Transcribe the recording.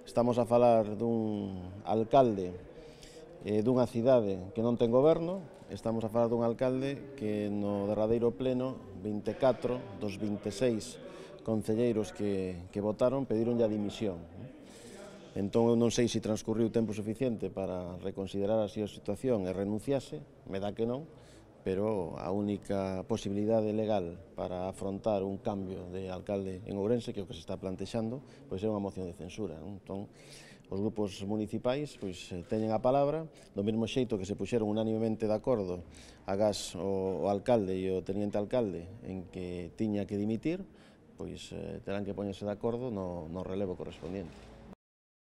Estamos a falar dun alcalde dunha cidade que non ten goberno, estamos a falar dun alcalde que no derradeiro pleno 24 dos 26 concelleiros que votaron pedironlle a dimisión. Entón eu non sei se transcurriu tempo suficiente para reconsiderar así a situación e renunciase, me dá que non, pero a única posibilidade legal para afrontar un cambio de alcalde en Ourense, que é o que se está plantexando, pois é unha moción de censura. Entón, os grupos municipais teñen a palabra, do mesmo xeito que se puxeron unánimemente de acordo agás o alcalde e o teniente alcalde en que tiña que dimitir, pois terán que poñerse de acordo no relevo correspondiente.